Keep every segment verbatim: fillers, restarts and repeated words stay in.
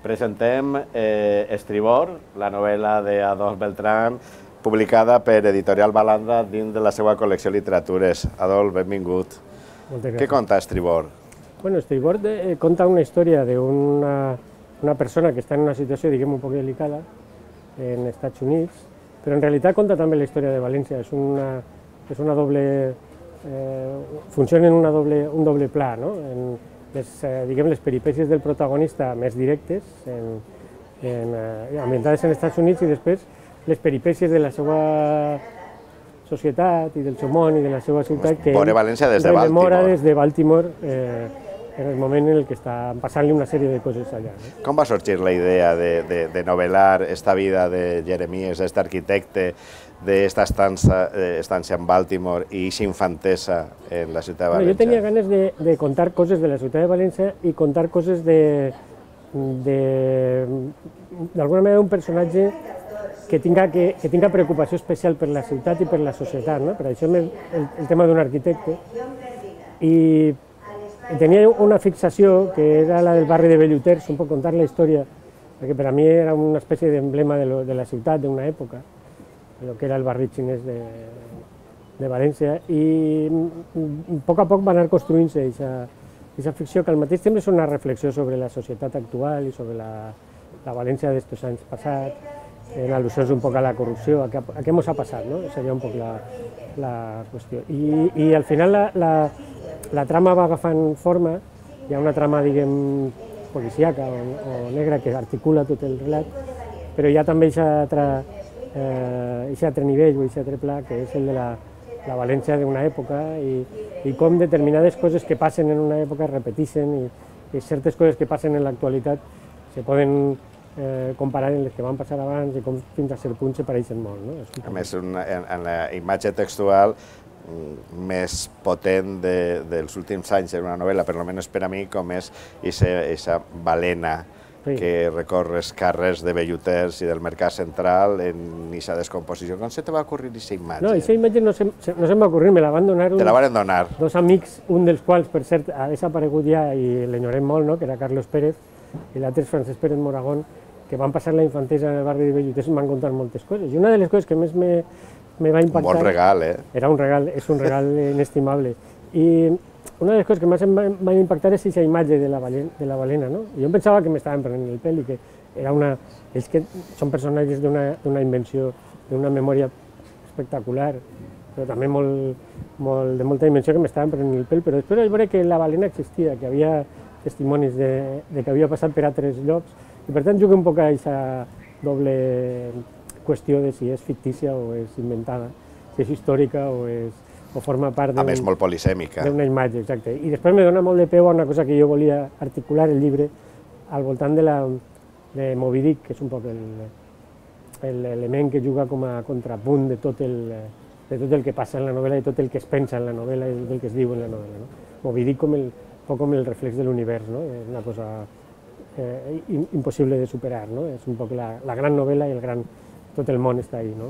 Presentem eh, Estribor, la novel·la d'Adolf Beltrán, publicada per Editorial Balanda dins de la seva col·lecció Literatures. Adolf, benvingut. Moltes gràcies. Què conta Estribor? Bueno, Estribor eh, conta una història d'una una persona que està en una situació, diguem, un poc delicada en Estats Units, però en realitat conta també la història de València. És una, és una doble... Eh, funciona en una doble, un doble pla, no? En, les, eh, diguem, les peripècies del protagonista més directes, en, en, eh, ambientades en Estats Units, i després les peripècies de la seva societat i del seu món i de la seva ciutat, que Veure València des de rememora Baltimore. des de Baltimore eh, en el moment en què està passant-li una sèrie de coses allà. No? Com va sorgir la idea de, de, de novel·lar esta vida de Jeremies, aquest arquitecte, d'esta estança, estància en Baltimore i aquesta infantesa en la ciutat de Bueno, València? jo tenia ganes de, de contar coses de la ciutat de València i contar coses de, de, d'alguna manera, un personatge que tinga, que, que tinga preocupació especial per la ciutat i per la societat, no? Per això el, el tema d'un arquitecte. I tenia una fixació que era la del barri de Belluters, un poc contar la història, perquè per a mi era una espècie d'emblema de, lo, de la ciutat d'una època, el que era el barri xinès de, de València, i a poc a poc va anar construint-se aquesta ficció, que al mateix temps és una reflexió sobre la societat actual i sobre la, la València d'estos anys passats, en al·lusions un poc a la corrupció, a què, a què mos ha passat, no? Seria un poc la, la qüestió. I, i al final la, la, la trama va agafant forma, hi ha una trama, diguem, policíaca o, o negra que articula tot el relat, però hi ha també aquesta altra, eh, altre nivell o aquest altre pla, que és el de la, la València d'una època i, i com determinades coses que passen en una època es repeteixen i, i certes coses que passen en l'actualitat se poden eh, comparar amb les que van passar abans i com fins a cert punt se pareixen molt. No? És A més, una, en, en la imatge textual més potent de, dels últims anys en una novel·la, per almenys per a mi, com és aquesta balena sí. que recorre els carrers de Belluters i del Mercat Central en aquesta descomposició. Com se te va ocurrir aquesta imatge? No, aquesta imatge no se, no se m'ha ocurrit, me la van donar, Te la van donar. dos amics, un dels quals, per cert, ha desaparegut ja i l'enyorem molt, no? Que era Carlos Pérez, i l'altre és Francesc Pérez Moragón, que van passar la infantesa en el barri de Belluters i m'han contat moltes coses. I una de les coses que més me, me va impactar... Un bon regal, eh? Era un regal, és un regal inestimable. I una de les coses que més em va, em va impactar és aquesta imatge de la, balena, de la balena, no? Jo em pensava que m'estaven prenent el pèl i que era una... Ells que són personatges d'una invenció, d'una memòria espectacular, però també molt, molt, de molta dimensió, que m'estaven prenent el pèl, però després vaig veure que la balena existia, que havia testimonis de, de que havia passat per altres llocs, i per tant jugo un poc a aquesta doble qüestió de si és fictícia o és inventada, si és històrica o, és, o forma part A més, molt polisèmica. d'una imatge, exacte. I després me dona molt de peu a una cosa que jo volia articular el llibre al voltant de, la, de Moby Dick, que és un poc l'element que juga com a contrapunt de tot, el, de tot el que passa en la novel·la i tot el que es pensa en la novel·la i tot el que es diu en la novel·la. No? Moby Dick com el, un poc com el reflex de l'univers, no? És una cosa eh, impossible de superar, no? És un poc la, la gran novel·la i el gran, tot el món està ahí, no?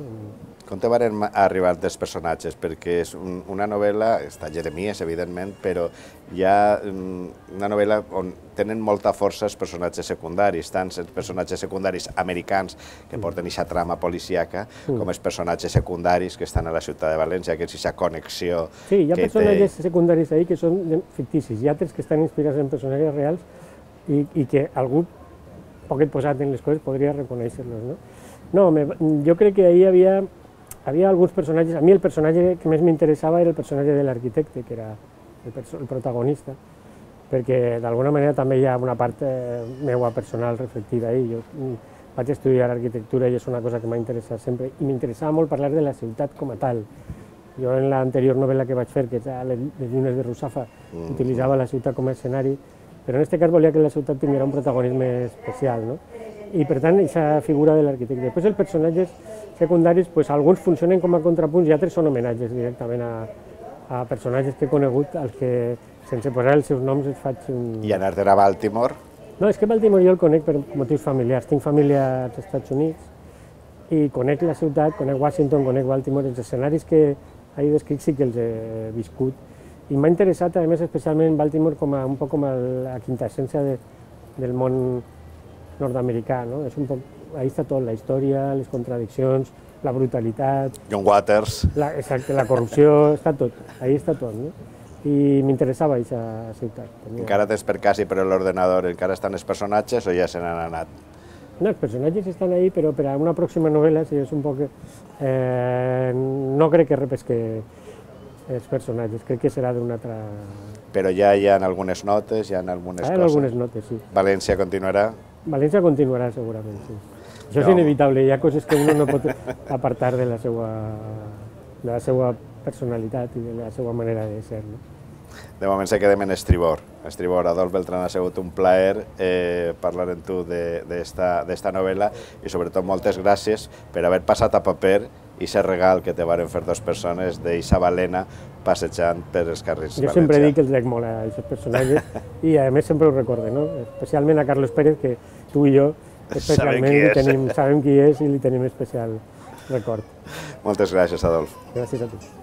Com te van arribar els personatges? Perquè és un, una novel·la, està Jeremies, evidentment, però hi ha una novel·la on tenen molta força els personatges secundaris, tant els personatges secundaris americans que porten aquesta trama policíaca, com els personatges secundaris que estan a la ciutat de València, que és aquesta connexió. Sí, hi ha que personatges té... secundaris ahí que són ficticis, hi ha altres que estan inspirats en personatges reals i, i que algú poquet posat en les coses podria reconèixer-los, no? No, me, jo crec que ahí hi havia Havia alguns personatges, a mi el personatge que més m'interessava era el personatge de l'arquitecte, que era el, el protagonista, perquè d'alguna manera també hi ha una part eh, meua personal reflectida ahí. Jo vaig estudiar arquitectura i és una cosa que m'ha interessat sempre, i m'interessava molt parlar de la ciutat com a tal. Jo en l'anterior novel·la que vaig fer, que és Les llunes de Russafa, mm. utilitzava la ciutat com a escenari, però en aquest cas volia que la ciutat tingués un protagonisme especial, no? I per tant, aquesta figura de l'arquitecte. Després els personatges secundaris, pues, alguns funcionen com a contrapunts i altres són homenatges directament a, a personatges que he conegut, als que, sense posar els seus noms, els faig un... I anar-te'n a Baltimore? No, és que Baltimore jo el conec per motius familiars. Tinc família als Estats Units i conec la ciutat, conec Washington, conec Baltimore. Els escenaris que he descrit sí que els he viscut. I m'ha interessat, a més, especialment Baltimore com a, un poc com a la quintessència de, del món nord-americà, no? És un poc, ahí està tot, la història, les contradiccions, la brutalitat... John Waters. La, exacte, la corrupció, està tot, ahí està tot, no? I m'interessava aquesta ciutat. Tenia... Encara tens per casa i per l'ordenador, encara estan els personatges o ja se n'han anat? No, els personatges estan ahí, però per a una pròxima novel·la, si és un poc... Eh, no crec que repesque els personatges, crec que serà d'una altra... Però ja hi ha algunes notes, hi ha algunes ah, coses. algunes notes, sí. València continuarà? València continuarà, segurament, sí. Això és inevitable, hi ha coses que uno no pot apartar de la seva, de la seva personalitat i de la seva manera de ser, no? De moment se quedem en Estribor. Estribor, Adolf Beltrán, ha sigut un plaer eh, parlar amb tu d'esta novel·la i sobretot moltes gràcies per haver passat a paper i ser regal que te varen fer dues persones d'eixa balena passejant per els carrers Jo sempre dic que els dec molt a aquests personatges i a més sempre ho recorde, no? Especialment a Carlos Pérez, que tu i jo especialment li tenim, sabem qui és i li tenim especial record. Moltes gràcies, Adolf. Gràcies a tu.